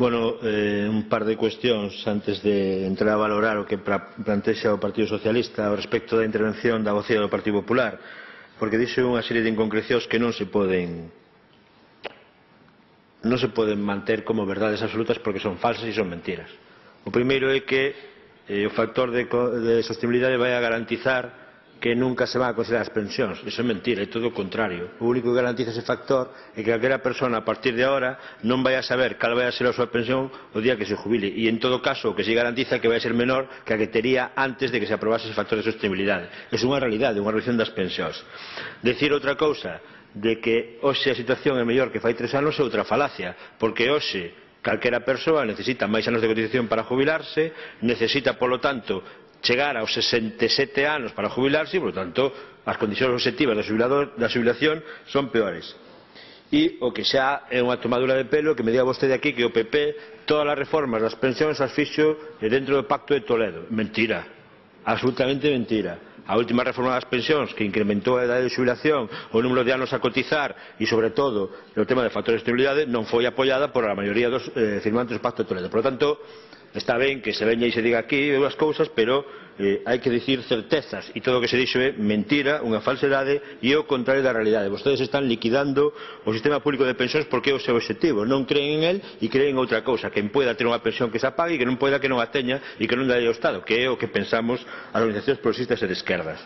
Bueno, un par de cuestións antes de entrar a valorar o que plantexa o Partido Socialista ao respecto da intervención da vocea do Partido Popular, porque dixe unha serie de inconcrecións que non se poden manter como verdades absolutas porque son falsas e son mentiras. O primeiro é que o factor de sostenibilidade vai a garantizar que nunca se van a considerar as pensións. Iso é mentira, é todo o contrario. O único que garantiza ese factor é que calquera persona a partir de agora non vai a saber cal vai a ser a súa pensión o día que se jubile, e en todo caso o que se garantiza é que vai a ser menor que a que tería antes de que se aprobase ese factor de sostenibilidade. É unha realidade, unha reducción das pensións. Decir outra cousa de que hoxe a situación é mellor que fai 3 anos é outra falacia, porque hoxe calquera persoa necesita máis anos de cotización para jubilarse, necesita, polo tanto, chegar aos 67 anos para jubilarse e, por tanto, as condicións objetivas da xubilación son peores. E o que xa é unha tomadura de pelo que me diga vostede aquí que o PP todas as reformas das pensións as fixo dentro do Pacto de Toledo. Mentira, absolutamente mentira. A última reforma das pensións que incrementou a idade de xubilación, o número de anos a cotizar e, sobre todo, o tema de factores de estabilidade non foi apoiada por a maioría dos firmantes do Pacto de Toledo. Por lo tanto, está ben que se veña e se diga aquí as cousas, pero hai que dicir certezas, e todo o que se dixo é mentira, unha falsedade e o contrario da realidade. Vostedes están liquidando o sistema público de pensións porque é o seu objetivo, non creen en el e creen en outra cousa, que poida ter unha pensión que se apague e que non poida que non a teña e que non dalle ao Estado, que é o que pensamos as organizacións progresistas e de esquerdas.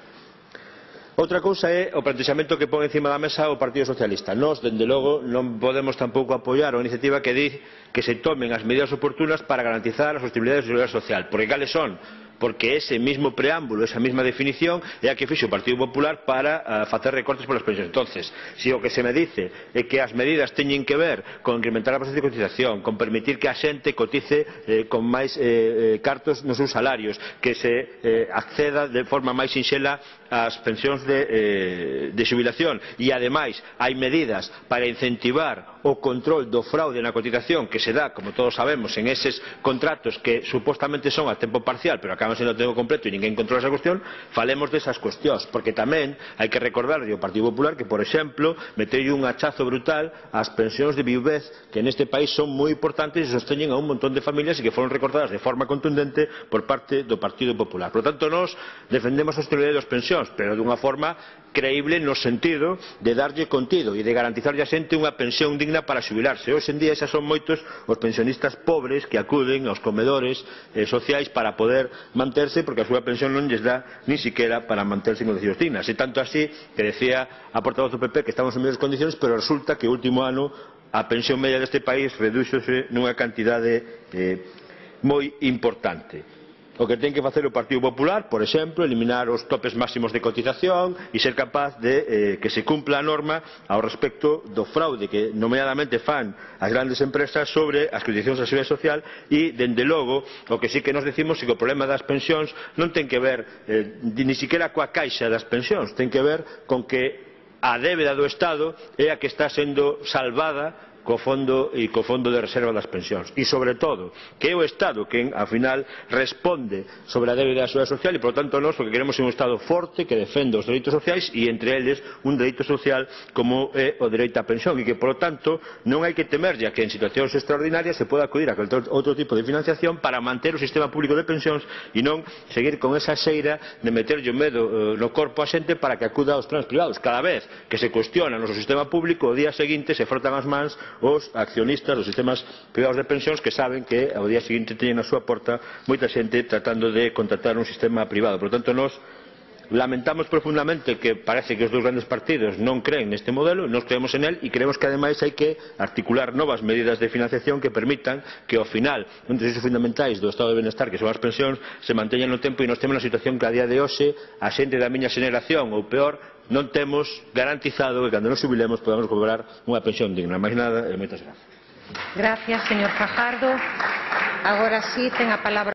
Outra cousa é o plantexamento que pon encima da mesa o Partido Socialista. Nós, dende logo, non podemos tampouco apoiar a iniciativa que di que se tomen as medidas oportunas para garantizar a sostenibilidade da seguridade social. Porque cales son? Porque ese mismo preámbulo, esa mesma definición é a que fixo o Partido Popular para facer recortes polas pensións. Entonces, se o que se me dice é que as medidas teñen que ver con incrementar a base de cotización, con permitir que a xente cotice con máis cartos nos seus salarios, que se acceda de forma máis sinxela ás pensións de xubilación, e ademais hai medidas para incentivar o control do fraude na cotización que se dá, como todos sabemos, en eses contratos que supostamente son a tempo parcial pero acaban sendo a tempo completo e ninguén controla esa cuestión. Falemos desas cuestións, porque tamén hai que recordar ao Partido Popular que, por exemplo, meteu un hachazo brutal ás pensións de viuvez que neste país son moi importantes e sosteñen a un montón de familias e que foron recortadas de forma contundente por parte do Partido Popular. Por lo tanto, nós defendemos a sostenibilidade das pensións, pero dunha forma creíble no sentido de darlle contido e de garantizarlle a xente unha pensión digna para xubilarse. Hoxe en día xa son moitos os pensionistas pobres que acuden aos comedores sociais para poder manterse porque a súa pensión non lles dá nin siquiera para manterse en condicións dignas. E tanto así que decía a portavoz do PP que estamos en mellores condicións, pero resulta que o último ano a pensión media deste país redúxose nunha cantidade moi importante. O que ten que facer o Partido Popular, por exemplo, eliminar os topes máximos de cotización e ser capaz de que se cumpla a norma ao respecto do fraude que nomeadamente fan as grandes empresas sobre as cotizacións da Seguridade Social. E, dende logo, o que sí que nos decimos é que o problema das pensións non ten que ver ni siquiera coa caixa das pensións, ten que ver con que a débeda do Estado é a que está sendo salvada co fondo de reserva das pensións, e sobre todo que é o Estado quen ao final responde sobre a débeda da Seguridade Social, e por tanto nós o que queremos é un Estado forte que defenda os dereitos sociais, e entre eles un dereito social como é o dereito á pensión, e que por tanto non hai que temerlle a que en situacións extraordinarias se poda acudir a outro tipo de financiación para manter o sistema público de pensións e non seguir con esa xeira de meterlle o medo no corpo a xente para que acuda aos planes privados. Cada vez que se cuestiona o noso sistema público, o día seguinte se frotan as mans os accionistas dos sistemas privados de pensións que saben que ao día seguinte teñen na súa porta moita xente tratando de contratar un sistema privado. Por tanto, nós lamentamos profundamente que parece que os dous grandes partidos non creen neste modelo, nós creemos en el e creemos que ademais hai que articular novas medidas de financiación que permitan que ao final un dos eixos fundamentais do estado de benestar que son as pensións se manteñan no tempo e nós temos na situación que a día de hoxe a xente da miña xeración ou peor non temos garantizado que cando nos jubilemos podamos cobrar unha pensión digna. Máis nada, moitas gracias. Gracias, señor Fajardo. Agora sí, ten a palabra